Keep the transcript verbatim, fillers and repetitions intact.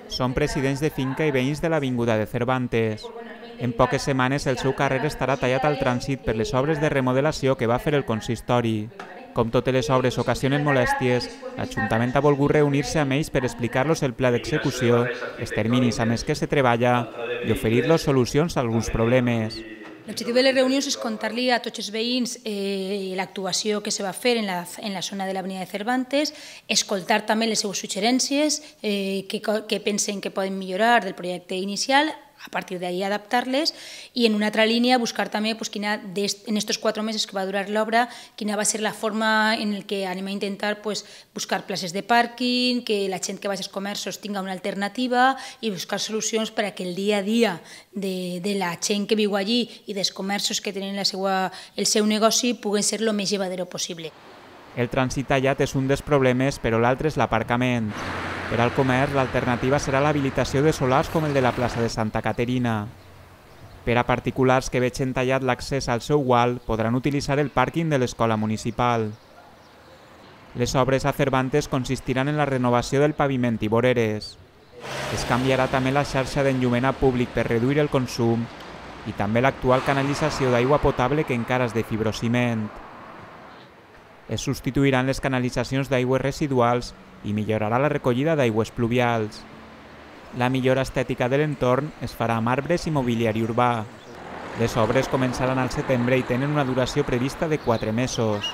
Són presidents de finca i veïns de l'Avinguda de Cervantes. En poques setmanes el seu carrer estarà tallat al trànsit per les obres de remodelació que va fer el consistori. Com totes les obres ocasionen molèsties, l'Ajuntament ha volgut reunir-se amb ells per explicar-los el pla d'execució, els terminis amb els que se treballa i oferir-los solucions a alguns problemes. L'objectiu de les reunions és contar-li a tots els veïns eh, l'actuació que se va fer en la, en la zona de l'Avinguda de Cervantes, escoltar també les seves suggerències eh, que, que pensen que poden millorar del projecte inicial, a partir d'ahí adaptar-les, i en una altra línia buscar també pues, quina, en aquests quatre mesos que va durar l'obra, quina va ser la forma en què anem a intentar pues, buscar places de pàrquing, que la gent que vagi als comerços tinga una alternativa i buscar solucions per a que el dia a dia de, de la gent que viu allí i dels comerços que tenen la seva, el seu negoci puguen ser el més llevadero possible. El trànsit tallat és un dels problemes, però l'altre és l'aparcament. Per al comerç, l'alternativa serà l'habilitació de solars com el de la plaça de Santa Caterina. Per a particulars que vegin tallat l'accés al seu gual, podran utilitzar el pàrquing de l'escola municipal. Les obres a Cervantes consistiran en la renovació del paviment i voreres. Es canviarà també la xarxa d'enllumenat públic per reduir el consum i també l'actual canalització d'aigua potable que encara és de fibrociment. Es substituiran les canalitzacions d'aigües residuals i millorarà la recollida d'aigües pluvials. La millora estètica de l'entorn es farà amb arbres i mobiliari urbà. Les obres començaran al setembre i tenen una duració prevista de quatre mesos.